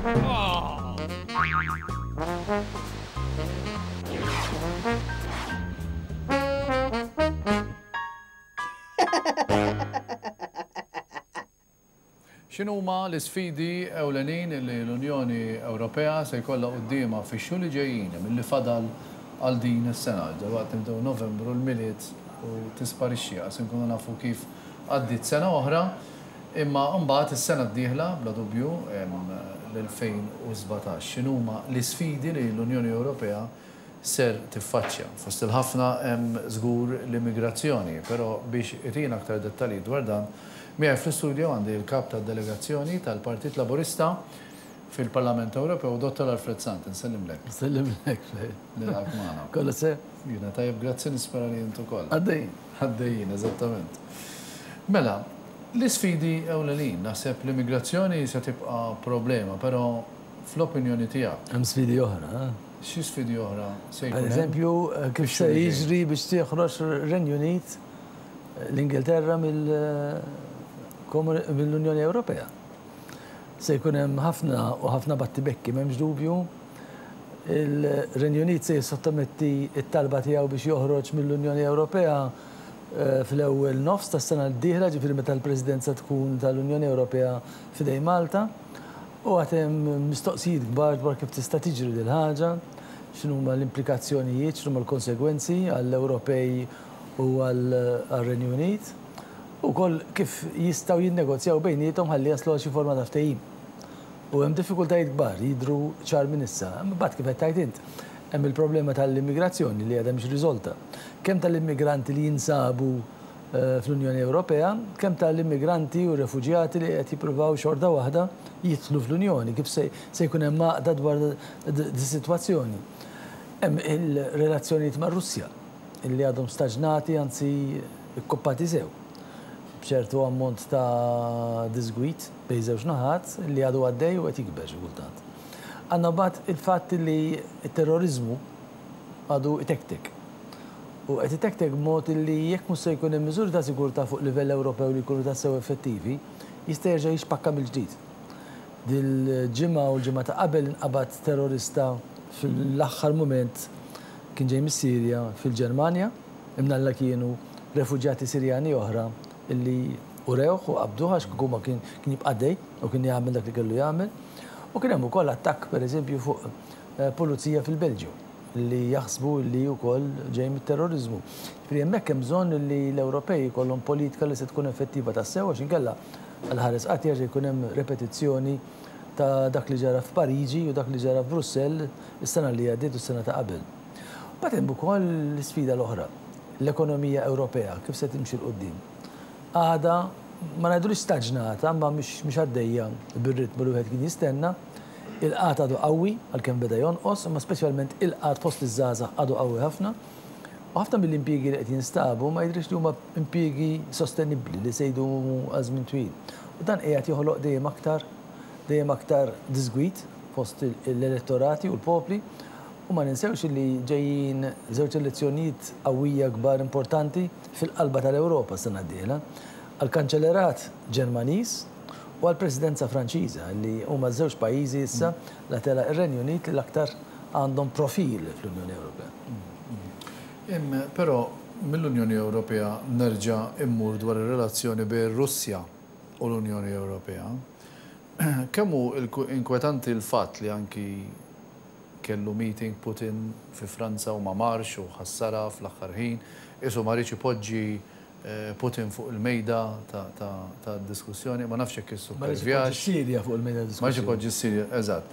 X'inhuma l-isfidi ewlenin li l-Unjoni Ewropea se jkollha quddiemha fix-xhur li ġejjin milli fadal għal din is-sena? Dalwaqt nibdew Novembru, l-Milied u tisparixxi qas inkunu nafu kif għaddiet sena oħra. Imma mbagħad is-sena d-dieħla, bla dubju, l-2017. X'inhuma l-isfidi li l-Unjoni Ewropea ser tiffaċċja? Fost il-ħafna hemm żgur l-immigrazzjoni, però biex itina aktar dettalji dwar dan, miegħi fl-istudio għandi l-Kap tad-Delegazzjoni tal-Partit Laburista fil-Parlament Ewropew, Dottor Alfred Sant. Insellimlek. Insellimlek, Fred. Nilqgħek magħna. Kollox sew? Jiena tajjeb, grazzi, nispera li int ukoll. Għaddejjin. Għaddejjin, eżattament. Mela, l-isfidi ewlenin, naħseb l-immigrazzjoni se tibqa' problema, però fl-opinjoni tiegħek. Hemm sfidi oħra, eh? Xi sfidi oħra se jkun hemm? Per eżempju, kif se jiġri biex tieħroġ ir-Renju Unit, l-Ingilterra mill-Unjoni Ewropea. Se jkun hemm ħafna u ħafna battibekki, m'hemmx dubju. Il-Renju Unit se jissottometti t-talba tiegħu biex joħroġ mill-Unjoni Ewropea fl-ewwel nofs tas-sena d-dieħla, ġifieri meta l-Presidenza tkun tal-Unjoni Ewropea f'idejn Malta. U għad hemm mistoqsijiet kbar dwar kif tista' tiġri dil-ħaġa, x'inhuma l-implikazzjonijiet, x'inhuma l-konsegwenzi għall-Ewropej u għar-Renju Unit, u wkoll kif jistgħu jinnegozjaw bejniethom ħalli jaslu għal xi forma ta' ftehim. U hemm diffikultajiet kbar jidhru ċar minn issa. Imbagħad kif qed tgħid int, hemm il-problema tal-immigrazzjoni li għadha mhix riżolta. Kemm tal-immigranti li jinsabu fl-Unjoni Ewropea, kemm tal-immigranti u refuġjati li qed jippruvaw xorta waħda jidħlu fl-Unjoni, kif se jkun hemm għaqda dwar dis-sitwazzjoni. Hemm il-relazzjonijiet mar-Russja li għadhom staġnati anzi kkuppati sew, b'ċertu ammont ta' diżgwid bejn żewġ naħat li għadu għaddej u qed jikber xi kultant. Għandna mbagħad il-fatt li t-terroriżmu għadu itektek. U qed itektek b'mod li jekk mhux se jkun hemm miżuri ta' sigurtà fuq livell Ewropew li jkunu tassew effettivi, jista' jerġa' jixpakka mill-ġdid. Dil-ġimgħa u l-ġimgħa ta' qabel inqabad terrorista fl-aħħar mument kien ġej mis-Sirja fil-Ġermanja, imnalla kienu refuġjati Sirjani oħra li urewh u qabduh għax kieku ma kien kien jibqa' għaddej u kien jagħmel dak li kellu jagħmel. U kien hemm ukoll attakk pereżempju fuq pulizija fil-Belġju li jaħsbu li wkoll ġej mit-terroriżmu. Ġifieri hemmhekk hemm bżonn li l-Ewropej ikollhom politika li se tkun effettiva tassew għax inkella għal ħares qatt jerġa' jkun hemm repetizzjoni ta' dak li ġara f'Pariġi u dak li ġara f'Brussell is-sena li għaddiet u s-sena ta' qabel. Mbagħad hemm ukoll l-isfida l-oħra, l-ekonomija Ewropea kif se timxi 'l quddiem. Għadha, ma ngħidulix staġnata, imma mhix għaddejja bir-ritmu li wieħed kien jistenna. Il-qgħad għadu qawwi, għalkemm beda jonqos, imma speċjalment il-qgħad fost iż-żgħażagħ għadu qawwi ħafna. U ħafna mill-impjiegi li qed jinstabu ma jidhirx li huma impjiegi sostenibbli li se jdumu għal żmien twil. U dan qiegħed joħloq dejjem aktar dejjem aktar diżgwid fost l-elettorati u l-popli. U ma ninsewx li ġejjin żewġ elezzjonijiet qawwija kbar importanti fil-qalba tal-Ewropa s-sena d-dieħla, għall-Kanċellerat Ġermaniż u għall-Presidenza Franċiża, li huma ż-żewġ pajjiżi issa la tela' ir-Renju Unit li l-aktar għandhom profil fl-Unjoni Ewropea. Però mill-Unjoni Ewropea nerġa' immur dwar ir-relazzjoni bejn ir-Russja u l-Unjoni Ewropea. Kemm hu inkwetanti l-fatt li anki kellu meeting Putin fi Franza u ma marx u ħassarha fl-aħħar ħin, qisu ma riedx ipoġġi Putin fuq il-mejda tad-diskussjoni, ma nafx jekk Ma riedx ipoġġi issupervjax. s-Sirja fuq il-mejda Ma riedx tad-diskussjoni. ipoġġi s-Sirja, eżatt.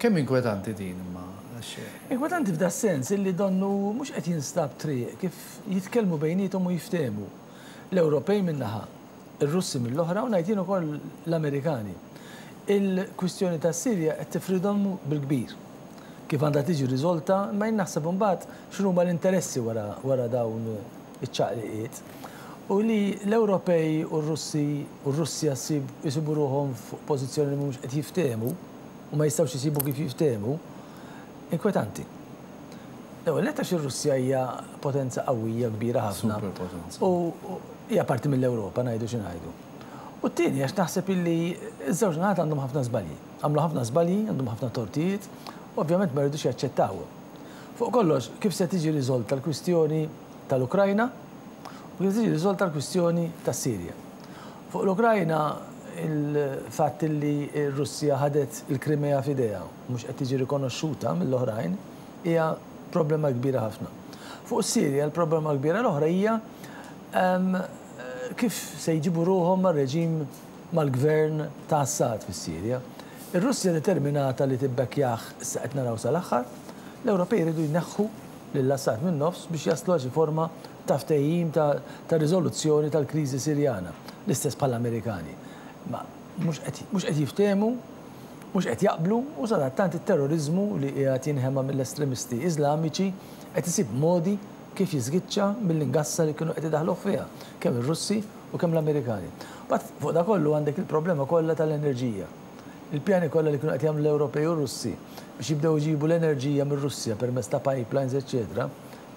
Kemm inkwetanti din imma għax. Inkwetanti f'das-sens illi donnu mhux qed jinstab triq kif jitkellmu bejniethom u jiftehmu. L-Ewropej minn naħa, ir-Russi mill-oħra u ngħid jien ukoll l-Amerikani. Il-kwistjoni tas-Sirja qed tifridhom bil-kbir. Kif għandha tiġi riżolta, imma jien naħseb imbagħad x'inhuma l-interessi wara wara dawn iċ-ċaqliqiet. U li l-Ewropej u r-Russi u r-Russja ssib isibu ruħhom fuq pożizzjoni li mhumiex qed jiftehmu u ma jistgħux isibu kif jiftehmu, inkwetanti. L-ewwel nett għax ir-Russja hija potenza qawwija kbira ħafna. Superpotenza. U hija parti mill-Ewropa ngħidu xi ngħidu. U t-tieni għax naħseb illi ż-żewġ naħat għandhom ħafna żbalji. Għamlu ħafna żbalji, għandhom ħafna tortijiet, u ovvjament ma jridux jaċċettawhom. Fuq kollox, kif se tiġi riżolta l-kwistjoni tal-Ukrajna u kif se tiġi riżolta l-kwistjoni tas-Sirja. Fuq l-Ukrajna, il-fatt illi r-Russja ħadet il-Krimea f'idejha u mhux qed tiġi rikonoxxuta mill-oħrajn hija problema kbira ħafna. Fuq is-Sirja, l-problema kbira l-oħra hija kif se jġibu ruħhom mar-reġim mal-gvern ta' Assad fis-Sirja. Ir-Russja determinata li tibbekkjah issa qed naraw sal-aħħar. L-Ewropej jridu jneħħu lil Assad min-nofs biex jaslu għal xi forma ta' ftehim ta' riżoluzzjoni tal-kriżi Sirjana, l-istess bħall-Amerikani. Imma mhux qed mhux qed jiftehmu, mhux qed jaqblu u sadattant it-terroriżmu li qiegħed jinħema mill-estremisti Iżlamiċi qed isib modi kif jiżgiċċa mill-ingassa li kienu qed idaħħluh fiha, kemm ir-Russi u kemm l-Amerikani. Mbagħad fuq dak kollu għandek il-problema kollha tal-enerġija. Il-pjani kollha li kienu qed jagħmlu l-Ewropej u r-Russi biex jibdew iġibu l-enerġija mir-Russja permezz ta' pipelines eċċetera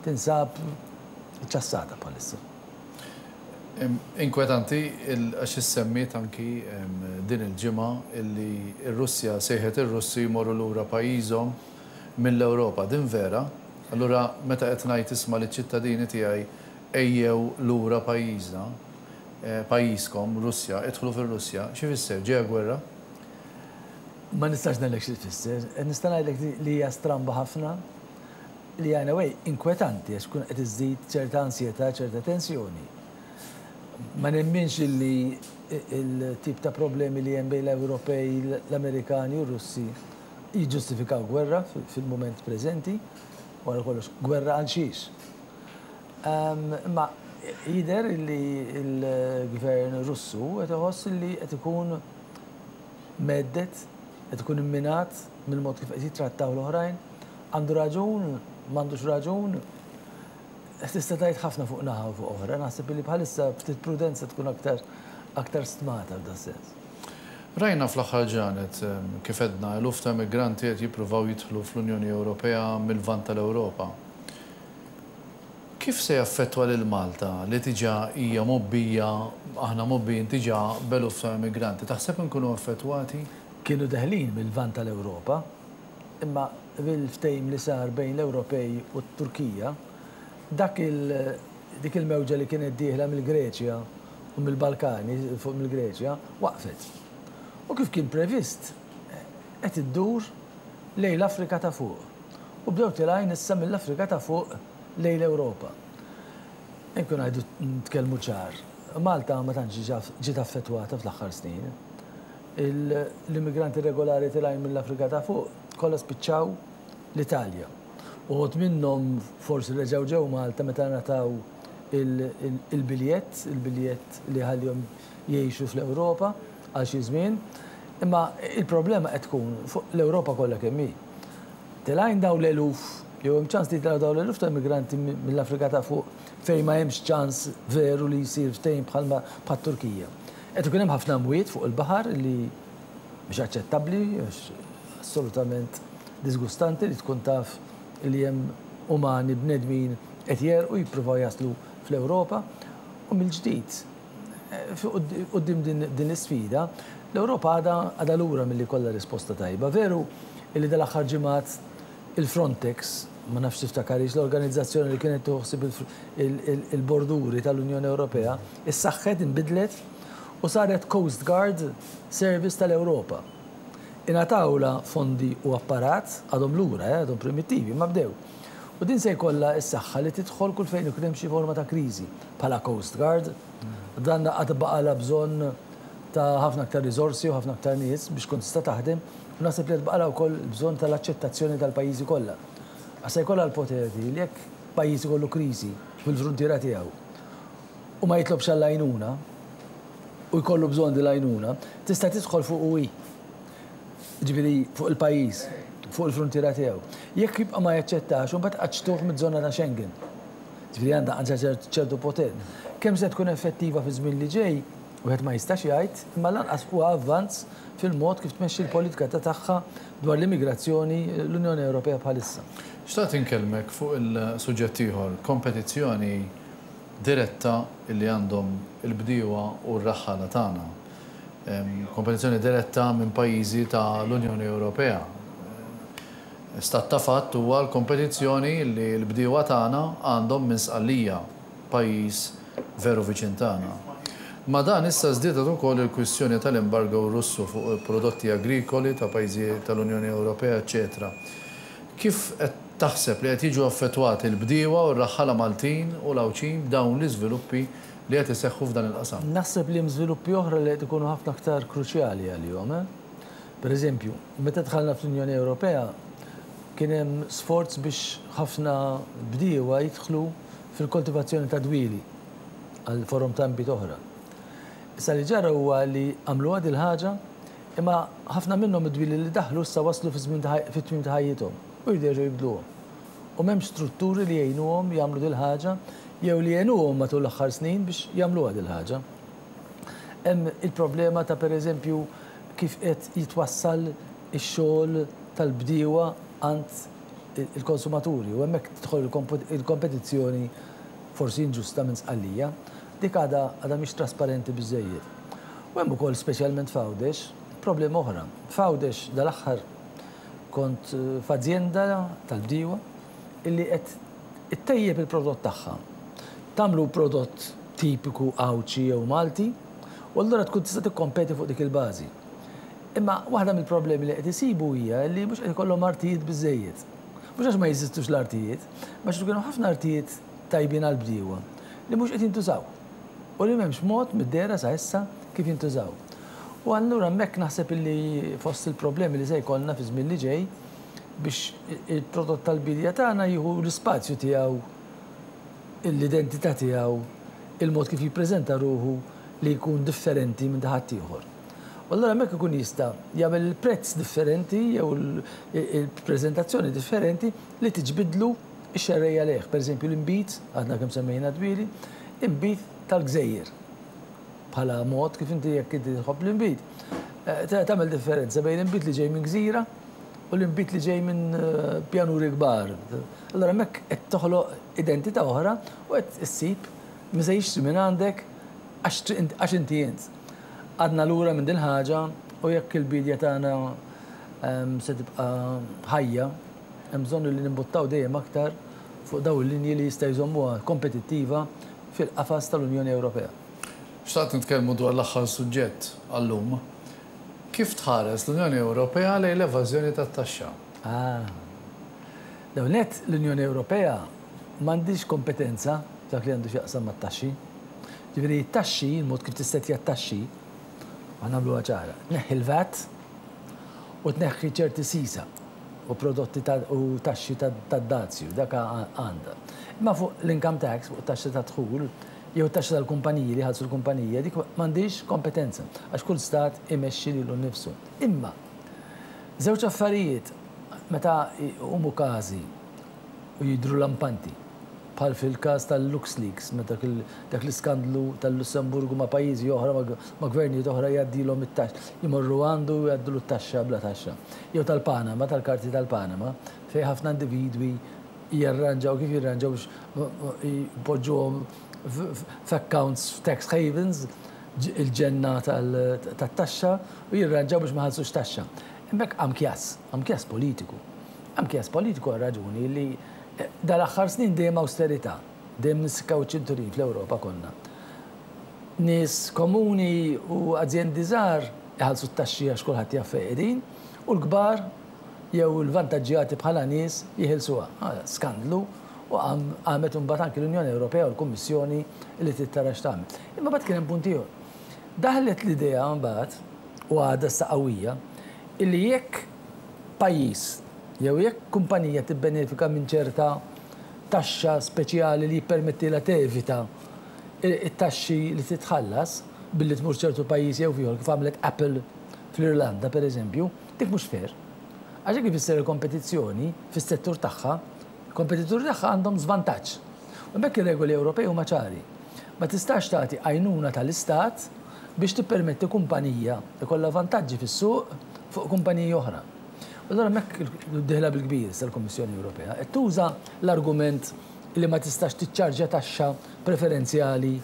tinsab iċċassata bħalissa. Inkwetanti għax issemmiet anki din il-ġimgħa illi r-Russja sejħet ir-Russi jmorru lura pajjiżhom mill-Ewropa. Din vera? Allura meta qed ngħid isma' liċ-ċittadini tiegħi ejjew lura pajjiżna, pajjiżkom, Russja, idħlu fir-Russja, x'ifisser? Ġejja gwerra? Ma nistax ngħidlek xi tfisser. Nista' ngħidlek li hija stramba ħafna, li hija in a way inkwetanti għax tkun qed iżżid ċerta ansjetà, ċerta tensjoni. Ma nemminx illi l-tip ta' problemi li hemm bejn l-Ewropej, l-Amerikani u r-Russi jiġġustifikaw gwerra fil-mument preżenti. Wara kollox, gwerra għal xiex? Imma jidher li l-gvern Russu qed iħoss li qed ikun mhedded, qed ikun imminat mill-mod kif qed jittrattaw l-oħrajn. Għandu raġun, m'għandux raġun? Tista' tgħid ħafna fuq naħa u fuq oħra. Naħseb li bħalissa ftit prudenza tkun aktar aktar stmata f'das-sens. Rajna fl-aħħar ġranet, kif għedna, eluf ta' immigranti qed jippruvaw jidħlu fl-Unjoni Ewropea mil-Lvant tal-Ewropa. Kif se jaffettwa lil Malta li diġà hija mgħobbija, aħna mgħobbijin diġà b'eluf ta' immigranti? Taħseb inkunu affettwati? Kienu deħlin mil-Lvant tal-Ewropa, imma bil-ftehim li sar bejn l-Ewropej u t-Turkija, dak il, dik il-mewġa li kienet dieħla mill-Greċja u mill-Balkani, 'il fuq mill-Greċja, waqfet. U kif kien previst, qed iddur lejn l-Afrika ta' Fuq. U bdew tilgħin issa mill-Afrika ta' Fuq lejn l-Ewropa. Inkun ngħidu nitkellmu ċar, Malta ma tantx ġiet affettwata fl-aħħar snin. L-immigranti irregolari tilgħin mill-Afrika ta' Fuq kollha spiċċaw l-Italja. Uħud minnhom forsi reġgħu ġew Malta meta ngħataw il-biljett, il-biljett li jħallihom jgħixu fl-Ewropa għal xi żmien. Imma il-problema qed tkun fuq l-Ewropa kollha kemm hi. Telgħin dawn l-eluf, jew hemm ċans li jitilgħu dawn l-eluf ta' immigranti mill-Afrika ta' Fuq fejn ma hemmx ċans veru li jsir ftehim bħalma bħat-Turkija. Qed ikun hemm ħafna mwiet fuq il-baħar li mhix aċċettabbli, assolutament disgustanti li tkun taf li hemm umani, bnedmin qed jegħrqu jippruvaw jaslu fl-Ewropa. U mill-ġdid, quddiem din l-isfida, l-Ewropa għadha għadha lura milli jkollha risposta tajba. Veru li dal-aħħar ġimgħat il-Frontex, ma nafx tiftakarhiex, l-organizzazzjoni li kienet tieħu ħsieb il-borduri tal-Unjoni Ewropea, issaħħet, inbidlet u saret Coast Guard Service tal-Ewropa. Ingħatawlha fondi u apparat, għadhom lura, eh, għadhom primittivi, imma bdew. U din se jkollha s-saħħa li tidħol kull fejn ikun hemm xi forma ta' kriżi, bħala Coast Guard. Dan għad baqalha bżonn ta' ħafna aktar riżorsi u ħafna aktar nies biex tkun tista' taħdem u naħseb li għad baqalha wkoll bżonn tal-aċċettazzjoni tal-pajjiżi kollha. Għax se jkollha l-poter di li jekk pajjiż ikollu kriżi fil-fruntiera tiegħu u ma jitlobx għall-għajnuna u jkollu bżonn din l-għajnuna, tista' tidħol fuqu hi. Jiġifieri fuq il-pajjiż, fuq il-fruntiera tiegħu. Jekk jibqa' ma jaċċettax, imbagħad qaċċtuh miż-żona ta' Schengen. Jiġifieri għandha għandha ċertu poter. Kemm se tkun effettiva fiż-żmien li ġej, wieħed ma jistax jgħid, imma lanqas huwa avvanz fil-mod kif tmexxi l-politika ta' tagħha dwar l-immigrazzjoni l-Unjoni Ewropea bħalissa. Xtaqt inkellmek fuq il-suġġett ieħor, kompetizzjoni diretta li għandhom il-bdiewa u r-raħħala tagħna. Kompetizzjoni diretta minn pajjiżi ta' l-Unjoni Ewropea. Stat ta' fatt huwa l-kompetizzjoni li l-bdiewa tagħna għandhom minn Sqallija, pajjiż veru viċin tagħna. Ma' dan issa żdiedet ukoll il-kwistjoni tal-embargo Russu fuq prodotti agrikoli ta' pajjiżi tal-Unjoni Ewropea eċċetera Kif qed taħseb li qed jiġu affettwati l-bdiewa u r-raħħala Maltin u l-Għawdxin b'dawn l-iżviluppi li qed iseħħu f'dan il-qasam? Naħseb li hemm żviluppi oħra li qed ikunu ħafna aktar kruċjali għalihom. Per eżempju, meta dħalna fl-Unjoni Ewropea kien hemm sforz biex ħafna bdiewa jidħlu fil-koltivazzjoni ta' dwieli għal forom ta' nbid oħra. Issa li ġara huwa li għamluha dil-ħaġa imma ħafna minnhom id-dwieli li daħlu issa waslu fiż-żmien fit-tmiem ta' ħajjithom u jridu jerġgħu jibdluhom. U m'hemmx strutturi li jgħinuhom jagħmlu dil-ħaġa jew li għenuhom matul l-aħħar snin biex jagħmluha dil-ħaġa. Hemm il-problema ta' pereżempju kif qed jitwassal ix-xogħol tal-bdiewa għand il-konsumaturi u hemmhekk tidħol il-kompetizzjoni forsi inġusta minn Sqallija. Dik għadha għadha mhix trasparenti biżżejjed. U hemm ukoll speċjalment f'Għawdex problema oħra. F'Għawdex dal-aħħar kont f'azjenda tal-bdiewa illi qed ittejjeb il-prodott tagħha. Tagħmlu prodott tipiku Għawdxi jew Malti u allura tkun tista' tikkompeti fuq dik il-bażi. Imma waħda mill-problemi li qed isibu hija li mhux qed ikollhom artijiet biżżejjed. Mhux għax ma jeżistux l-artijiet, imma għax ikun hemm ħafna artijiet tajbin għall-bdiewa li mhux qed jintużaw u li m'hemmx mod mid-dehra sa issa kif jintużaw. U allura hemmhekk naħseb illi fost il-problemi li se jkollna fiż-żmien li ġej biex il-prodott tal-biedja tagħna jieħu l-ispazju tiegħu, l-identità tiegħu, il-mod kif jippreżenta ruħu li jkun differenti minn ta' ħaddieħor. U allura hemmhekk ikun jista' jagħmel il-prezz differenti jew il-preżentazzjoni differenti li tiġbidlu x-xerrejja lejh. Pereżempju l-inbid, għadna kemm semmejna dwieli, inbid tal-gżejjer. Bħala mod kif inti jekk inti tħobb l-inbid, tagħmel differenza bejn l-inbid li ġej minn gżira u l-inbid li ġej minn pjanuri kbar. Allura hemmhekk qed toħloq identità oħra u qed issib min se jixtri minn għandek għax inti int. Għadna lura minn din ħaġa u jekk il-biedja tagħna se tibqa' ħajja, hemm bżonn li nimbuttaw dejjem aktar fuq dawn il-linji li jista' jżommuha kompetittiva fil-qafas tal-Unjoni Ewropea. Xtaqt nitkellmu dwar l-aħħar suġġett għal-lum. Kif tħares l-Unjoni Ewropea lejn l-evażjoni tat-taxxa? Ah. L-ewwel nett, l-Unjoni Ewropea m'għandhiex kompetenza f'dak li għandu x'jaqsam mat-taxxi. Ġifieri t-taxxi, il-mod kif tissettja t-taxxi, ħa nagħmluha ċara, tneħħi l-VAT u tneħħi ċerti sisa u prodotti u taxxi tad-dazju, dak għandha. Imma fuq l-income tax, fuq it-taxxa tad-dħul, jew it-taxxa tal-kumpaniji li jħallsu l-kumpanija, dik m'għandhiex kompetenza għax kull stat imexxi lilu nnifsu. Imma żewġ affarijiet meta jqumu każi u jidhru lampanti, bħal fil-każ tal-LuxLeaks, meta dak l-iskandlu tal-Lussemburgu ma' pajjiżi oħra, ma' gvernijiet oħra jgħaddilhom it-taxxa, jmorru għandu u jgħaddulu t-taxxa bla taxxa. Jew tal-Panama, tal-karti tal-Panama, fejn ħafna individwi jirranġaw kif jirranġaw biex jpoġġuhom f'accounts f'tax havens, il-ġenna tat-taxxa, u jirranġaw biex ma jħallsux taxxa. Hemmhekk qam kjass, qam kjass politiku. Qam kjass politiku għar-raġuni li dal-aħħar snin dejjem awsterità, dejjem nissikkaw iċ-ċinturin fl-Ewropa konna. Nies komuni u azjendi żgħar iħallsu t-taxxi għax kulħadd jaf fejn qegħdin, u l-kbar jew il-vantaġġjati bħala nies jeħilsuha. Skandlu u qamet imbagħad anki l-Unjoni Ewropea u l-Kummissjoni li trid tara x'tagħmel. Imma mbagħad kien hemm punt ieħor. Daħlet l-idea mbagħad, u għadha issa qawwija, illi jekk pajjiż jew jekk kumpanija tibbenefika minn ċerta taxxa speċjali li jippermettilha tevita t-taxxi li titħallas billi tmur ċertu pajjiż jew f'ieħor kif għamlet Apple fl-Irlanda pereżempju, dik mhux fair. Għax hekk ifisser il-kompetizzjoni fis-settur tagħha, il-kompetituri tagħha għandhom żvantaġġ. U hemmhekk ir-regoli Ewropej huma ċari. Ma tistax tagħti għajnuna tal-istat biex tippermetti kumpanija jkollha vantaġġi fis-suq fuq kumpaniji oħra. U allura hemmhekk dieħla bil-kbir issa l-Kummissjoni Ewropea. Qed tuża l-argument li ma tistax tiċċarġja taxxa preferenzjali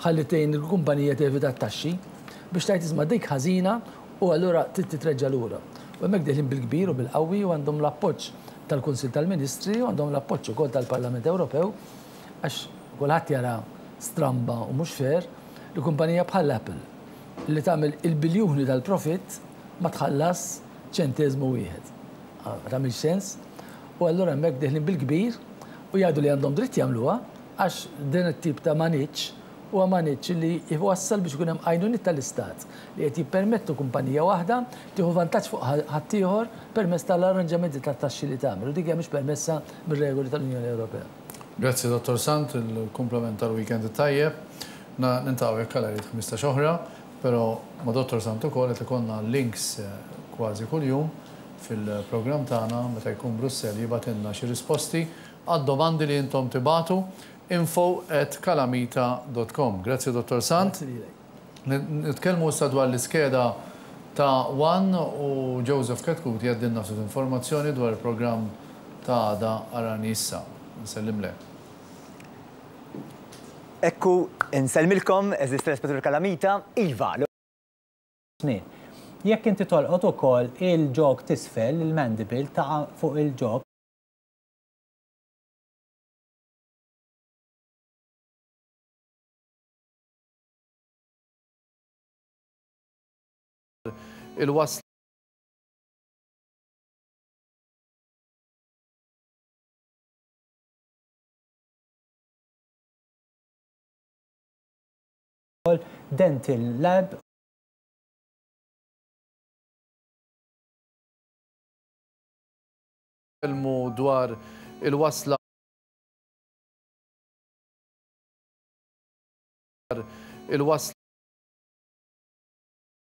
ħalli tgħin il-kumpanija tevita t-taxxi. biex tgħid isma' dik ħażina u allura trid titreġġa' lura. U hemmhekk deħlin bil-kbir u bil-qawwi u għandhom l-appoġġ tal-Kunsill tal-Ministri u għandhom l-appoġġ ukoll tal-Parlament Ewropew għax kulħadd jara stramba u mhux fair li kumpanija bħal Apple li tagħmel il-biljuni tal-profitt ma tħallas ċenteżmu wieħed. Ma tagħmilx sens. U allura hemmhekk deħlin bil-kbir u jgħidu li għandhom dritt jagħmluha għax din it-tip ta' maniġġ huwa maniġġ li jwassal biex ikun hemm għajnuniet tal-Istat li qed jippermettu kumpanija waħda tieħu vantaġġ fuq ħaddieħor permezz tal-arranġamenti tat-taxxi li tagħmel u dik hija mhix permessa mir-regoli tal-Unjoni Ewropea. Grazzi Dottor Sant, il-kumplament tal-weekend it-tajjeb. Niltaqgħu jekk Alla jrid 15 oħra, però ma' Dottor Sant ukoll qed ikollna links kważi kuljum fil-programm tagħna meta jkun Brussell jibgħatilna xi risposti għad-domandi li intom tibagħtu info at kalamita dot com. Grazzi Dottor Sant. Grazzi lilek. Nitkellmu issa dwar l-iskeda ta' one u Joseph Chetcuti jgħaddilna ftit informazzjoni dwar il-programm ta' għada Arani Issa. Nsellimlek. Ekku, insellmilkom, għeżież telespettaturi Kalamita, iva, l. Snien. Jekk inti tolqot ukoll il-ġog t'isfel, il-mandible, taqa' fuq il-ġog. Il-wasla. Dental Lab. Nitkellmu dwar il-wasla. Il-wasla.